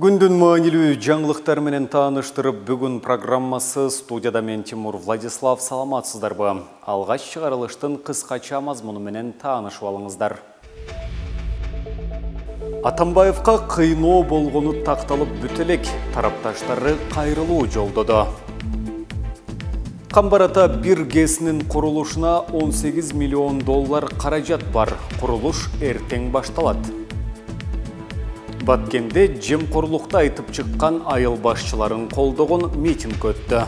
Күндүн маанилүү жаңылыктар менен тааныштырып, бүгүн программасы студияда мен Тимур Владислав. Саламатсыздарбы? Алгач чыгарылыштын кыскача мазмуну менен таанышып алыңыздар. Атамбаевка кыйноо болгону такталып бүт элек, тарапташтары кайрылуу жолдоду. Камбарата бир ГЭСинин курулушуна 18 миллион доллар каражат бар. Курулуш эртең башталат. Баткенде жемкорлукта айтып чыккан айыл башчыларын колдогон митинг өттү.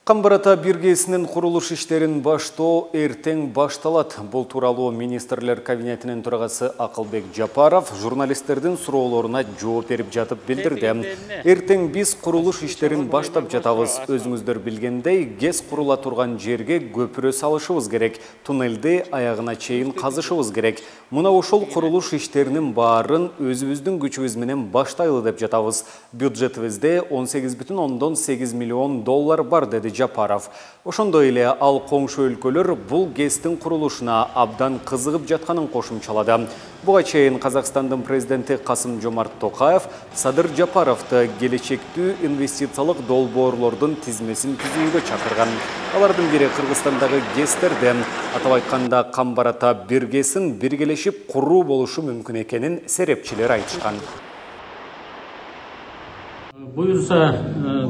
Камбарата бир ГЭСинин курулуш иштерин баштоо эртең башталат. Бул тууралуу министрлер кабинетинин төрагасы Акылбек Жапаров журналисттердин суроолоруна жооп берип жатып билдирди. Эртең биз курулуш иштерин баштап жатабыз. Өзүңүздөр билгендей, ГЭС курула турган жерге көпүрө салышыбыз керек. Туннелди аягына чейин казышыбыз керек. Мына ошол курулуш иштеринин баарын өзүбүздүн күчүбүз менен баштайлы деп жатабыз. Бюджетибизде 18,8 миллион доллар бар, деди Жапаров. Ошондой эле ал коңшу өлкөлөр бул ГЭСтин курулушуна абдан кызыгып жатканын кошумчалады. Буга чейин Казакстандын президенти Касым-Жомарт Токаев Садыр Жапаровду келечектүү инвестициялык долбоорлордун тизмесин түзүүгө чакырган. Алардын бири Кыргызстандагы ГЭСтерде, атап айтканда Камбарата бир ГЭСин биргелешип куруу болушу мүмкүн экенин серепчилер айтышкан. Буюрса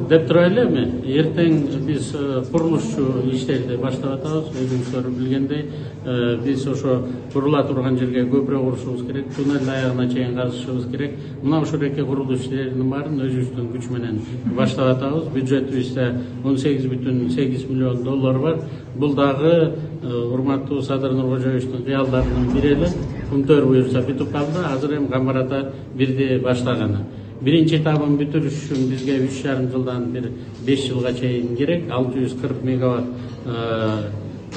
деп турайлы эми, эртең биз курулушчу иштерди баштап атабыз. Өзүңүздөр билгендей, биз ошо курула турган жерге көпүрө курушубуз керек, туннель аягына чейин казышыбыз керек. Мына ушул эки курулуш иштеринин баарын өзүбүздүн күч менен баштап атабыз. Бюджетибизде 18,8 миллион доллар бар. Бул дагы урматтуу Садыр Нуркожоевичтин кыялдарынын бири эле. Күнтөр буюрса бүтүп калды. Азыр эми Камбарата бирди баштаганы. Биринчи этабын бүтүрүш үчүн бизге 3,5 жылдан 5 жылга чейин керек. 640 мегаватт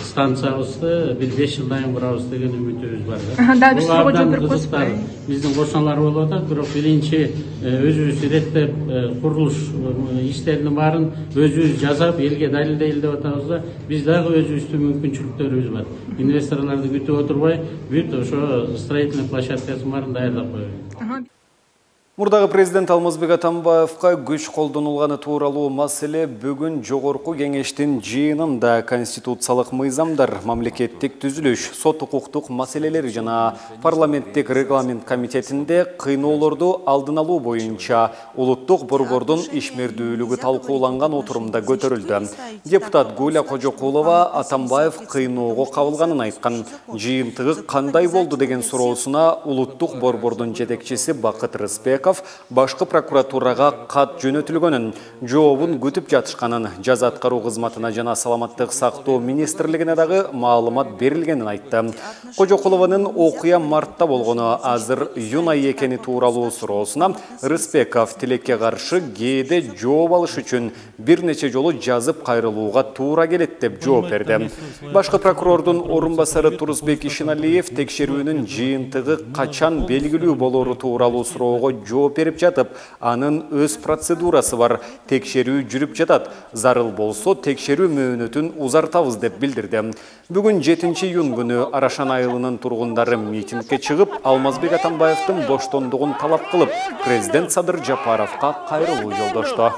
станциябызды 5 жылдан кийин курабыз деген үмүтүбүз бар. Бул абдан кызыктар биздин кошуналар болуп атат. Бирок биринчи өзүбүз иреттеп курулуш иштеринин баарын өзүбүз жасап, элге далилдейли деп атабыз да. Биз дагы өзүбүздүн мүмкүнчүлүктөрүбүз бар. Инвесторлорду күтүп отурбай, бүт ошо строительный площадкасын баарын даярдап коебуз. Мурдагы президент Алмазбек Атамбаевка күч колдонулганы тууралуу маселе бүгүн Жогорку кеңештин жыйынында конституциялык мыйзамдар, мамлекеттик түзүлүш, сот укуктук маселелер жана парламенттик регламент комитетинде кыйноолорду алдын алуу боюнча улуттук борбордун ишмердүүлүгү талкууланган отурумда көтөрүлдү. Депутат Гуля Кожокулова Атамбаев кыйноого кабылганын айткан. Жыйынтыгы кандай болду деген суроосуна улуттук борбордун жетекчиси Бакыт Рыспеков башкы прокуратурага кат жөнөтүлгөнүн, жообун күтүп жатышканын, жаза аткаруу кызматына жана саламаттык сактоо министрлигине дагы маалымат берилгенин айтты. Кожокулованын окуя мартта болгону, азыр июнь айы экени тууралуу суроосуна Рыспеков тилекке каршы кээде жооп алыш үчүн бир нече жолу жазып кайрылууга туура келет деп жооп берди. Башкы прокурордун орун басары Турузбек Ишеналиев текшерүүнүн жыйынтыгы качан белгилүү болору тууралуу суроого жооп берип жатып, анын өз процедурасы бар, текшерүү жүрүп жатат. Зарыл болсо текшерүү мөөнөтүн узартабыз деп билдирди. Бүгүн 7-июнь күнү Арашан айылынын тургундары митингге чыгып, Алмазбек Атамбаевдин боштондугун талап кылып, президент Садыр Жапаровго кайрылуу жолдошту.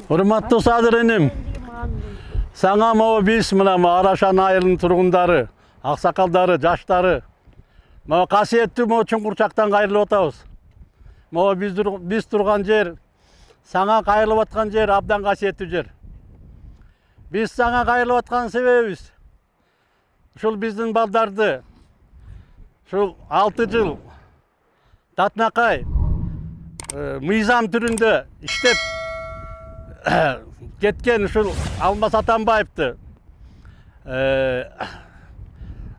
Урматтуу Садыр энем, саңа могу биз мына Арашан айылынын тургундары, аксакалдары, жаштары, могу касиеттүү могу чуңкурчактан кайрылып атабыз. Могу биз турган жер, саңа кайрылып аткан жер абдан касиеттүү жер. Биз саңа кайрылып аткан себебибиз ушул биздин балдарды ушул 6 жыл татынакай мыйзам түрүндө иштеп кеткен ушул Алмаз Атамбаевди,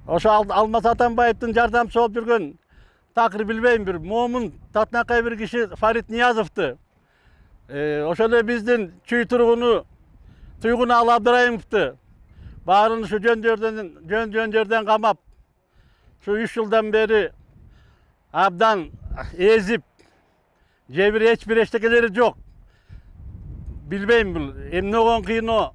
ошо Алмаз Атамбаевдин жардамчысы болуп жүргөн такыр билбейм, бир момун татынакай бир киши Фарид Ниязовду, ошол эле биздин чүй тургуну Туйгун Алы Абдырайымовду баарын ушу жөн жерден камап, ушу 3 жылдан бери абдан эзип, эч бир эчтекелери жок. Билбейм, бул эмне болгон кыйноо.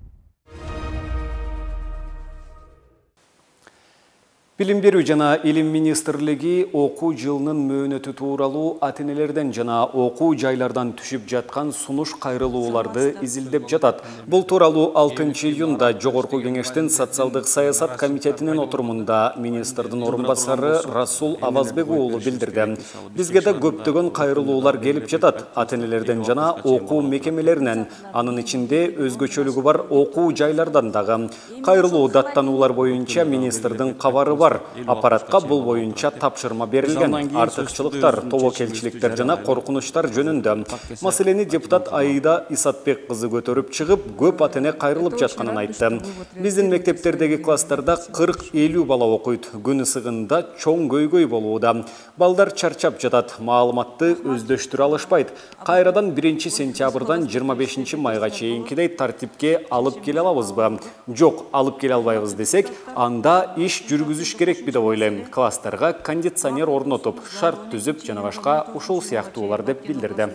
Билим берүү жана илим министрлиги окуу жылынын мөөнөтү тууралуу ата-энелерден жана окуу жайлардан түшүп жаткан сунуш кайрылууларды изилдеп жатат. Бул тууралуу 6 июнда Жогорку кеңештин социалдык саясат комитетинин отурумунда министрдин орун басары Расул Авазбек уулу билдирди. Бизге да көптөгөн кайрылуулар келип жатат. Ата-энелерден жана окуу мекемелеринен, анын ичинде өзгөчөлүгү бар окуу жайлардан дагы. Кайрылуу даттануулар боюнча министрдин кабары бар. Аппаратка бул боюнча тапшырма берилген. Артыкчылыктар, тобокелчиликтер жана коркунучтар жөнүндө. Маселени депутат Аида Исатбек кызы көтөрүп чыгып, көп ата-эне кайрылып жатканын айтты. Биздин мектептердеги класстарда 40-50 бала окуйт. Күн ысыгында чоң көйгөй болууда. Балдар чарчап жатат, маалыматты өздөштүрө алышпайт. Кайрадан 1 сентябрдан 25 майга чейинкидей тартипке алып келе алабызбы? Жок, алып келе албайбыз десек, анда иш жүргүзүш керек деп ойлойм. Класстарга кондиционер орнотуп, шарт түзүп жана башка ушул сыяктуулар деп билдирди.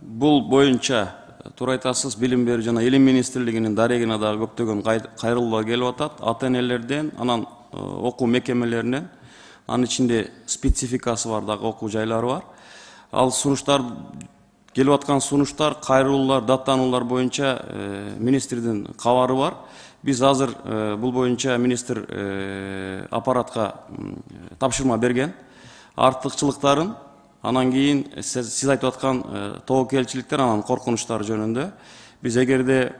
Бул боюнча туура айтасыз, билим берүү жана илим министрлигинин дарегине дагы көптөгөн кайрылуулар келип атат. Ата-энелерден, анан окуу мекемелеринен, анын ичинде спецификасы бар дагы окуу жайлары бар. Ал сунуштар келип аткан сунуштар, кайрылуулар, даттануулар боюнча министрдин кабары бар. Биз азыр бул боюнча министр аппаратка тапшырма берген. Артыкчылыктарын, анан кийин сиз айтып аткан тобокелчиликтер, анан коркунучтар жөнүндө биз эгерде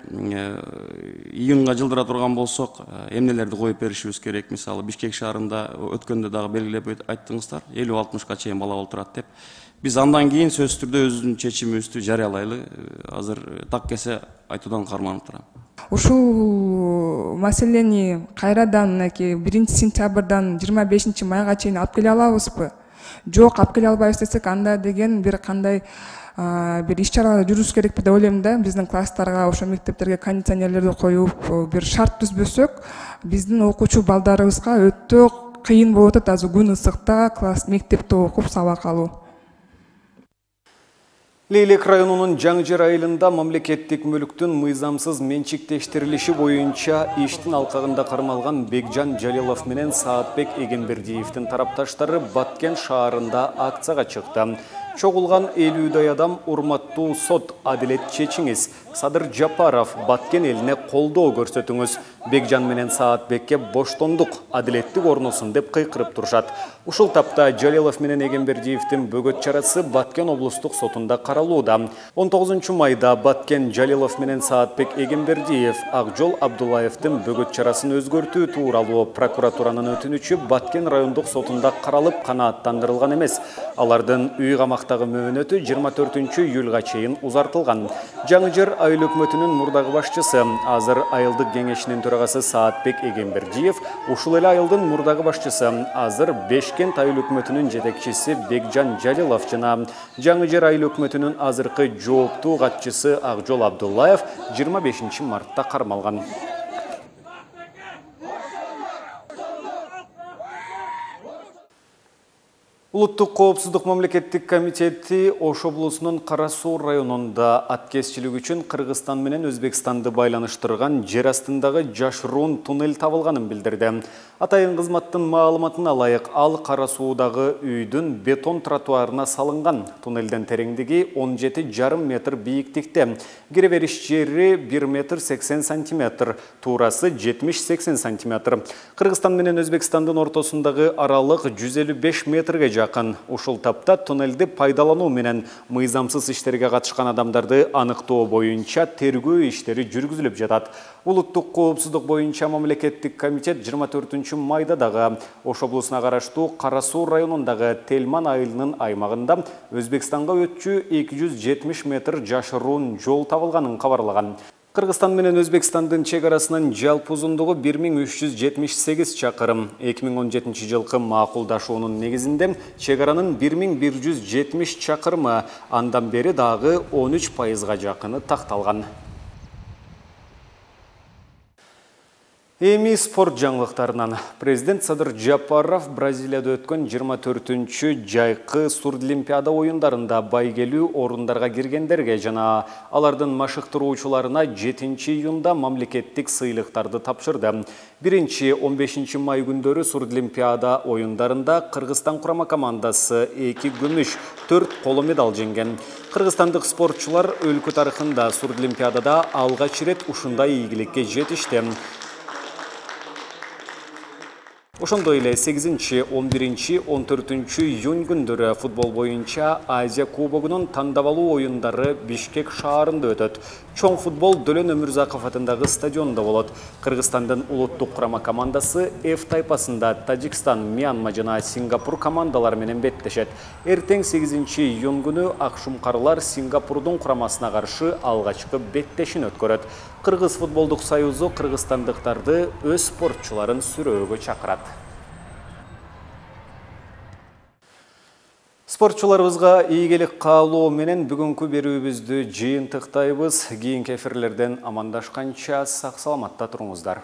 июнга жылдыра турган болсок, эмнелерди коюп беришибиз керек. Мисалы, Бишкек шаарында өткөндө дагы белгилеп айттыңыздар, 50-60ка чейин бала олтурат деп. Биз андан кийин сөзсүз түрдө өзүнүн чечимибизди жарыялайлы. Азыр так келсе айтуудан карманып турам. Ушул маселени кайрадан 1 сентябрдан 25 майга чейин алып келе алабызбы? Жок, алып келе албайбыз десек, анда деген бир кандай бир иш-чаралар жүрүш керекпи деп ойлойм да. Биздин класстарга, ошо мектептерге кондиционерлерди коюп, бир шарт түзбөсөк, биздин окуучу балдарыбызга өтө кыйын болуп атат азыр күн ысыкта класс мектепте окуп сабак алуу. Лейлек районунун Жаңжер айылында мамлекеттик мүлктүн мыйзамсыз менчиктештирилиши боюнча иштин алкагында кармалган Бекжан Жалилов менен Саатбек Эгембердиевдин тарапташтары Баткен шаарында акцияга чыкты. Чогулган 50дай адам урматтуу сот, адилет чечиңиз. Садыр Жапаров, Баткен элине колдоо көрсөтүңүз. Бекжан менен Саатбекке боштондук, адилеттик орносун деп кыйкырып турушат. Ушул тапта Жалилов менен Эгембердиевдин бөгөт чарасы Баткен облустук сотунда каралууда. 19 майда Баткен Жалилов менен Саатбек Эгембердиев Акжол Абдуллаевдин бөгөт чарасын өзгөртүү тууралуу прокуратуранын өтүнүчү Баткен райондук сотунда каралып канааттандырылган эмес. Алардын үй камактагы мөөнөтү 24 июлга чейин узартылган. Жаңжер айыл өкмөтүнүн мурдагы башчысы, азыр айылдык кеңешинин төрагасы Саатбек Эгембердиев, ушул эле айылдын мурдагы башчысы, азыр Бешкент айыл өкмөтүнүн жетекчиси Бекжан Жалилов жана Жаңжер айыл өкмөтүнүн азыркы жооптуу катчысы Акжол Абдуллаев 25 мартта кармалган. Улуттук коопсуздук мамлекеттик комитети Ош облусунун Кара Суу районунда аткезчилик үчүн Кыргызстан менен Өзбекстанды байланыштырган жер астындагы жашыруун туннель табылганын билдирди. Атайын кызматтын маалыматына ылайык, ал Кара Суудагы үйдүн бетон тротуарына салынган. Туннелден тереңдиги 17,5 метр бийиктикте. Кире бериш жери 1 метр 80 сантиметр, туурасы 70-80 сантиметр. Кыргызстан менен Өзбекстандын ортосундагы аралык 155 метрге жакын. Ушул тапта туннелди пайдалануу менен мыйзамсыз иштерге катышкан адамдарды аныктоо боюнча тергөө иштери жүргүзүлүп жатат. Улуттук коопсуздук боюнча мамлекеттик комитет 24 майда дагы Ош облусуна караштуу Кара Суу районундагы Телман айылынын аймагында Өзбекстанга өтчү 270 метр жашыруун жол табылганын кабарлаган. Кыргызстан менен Өзбекстандын чек арасынын жалпы узундугу 1378 чакырым. 2017 жылкы макулдашуунун негизинде чек аранын 1170 чакырымы, андан бери дагы 13%га жакыны такталган. Эми спорт жаңылыктарынан. Президент Садыр Жапаров Бразилияда өткөн 24-чү жайкы сурдлимпиада оюндарында байгелүү орундарга киргендерге жана алардын машыктыруучуларына 7-июнда мамлекеттик сыйлыктарды тапшырды. 1-15 май күндөрү сурдлимпиада оюндарында Кыргызстан курама командасы 2 күмүш, 4 коло медаль жеңген. Кыргызстандык спортчулар өлкө тарыхында сурдлимпиадада алгач рет ушундай ийгиликке жетишти. Ошондой эле 8, 11, 14 июнь күндөрү футбол боюнча Азия кубогунун тандабалуу оюндары Бишкек шаарында өтөт. Чоң футбол Дөлөн Өмүрзаков атындагы стадиондо болот. Кыргызстандын улуттук курама командасы F тайпасында Тажикстан, Мьянма жана Сингапур командалары менен беттешет. Эртең 8 июнь күнү Акшумкарлар Сингапурдун курамасына каршы алгачкы беттешин өткөрөт. Кыргыз футболдук союзу кыргызстандыктарды өз спортчуларын сүрөөгө чакырат. Спортчуларыбызга ийгилик каалоо менен бүгүнкү берүүбүздү жыйынтыктайбыз. Кийинки эфирлерден амандашканча сак саламатта туруңуздар.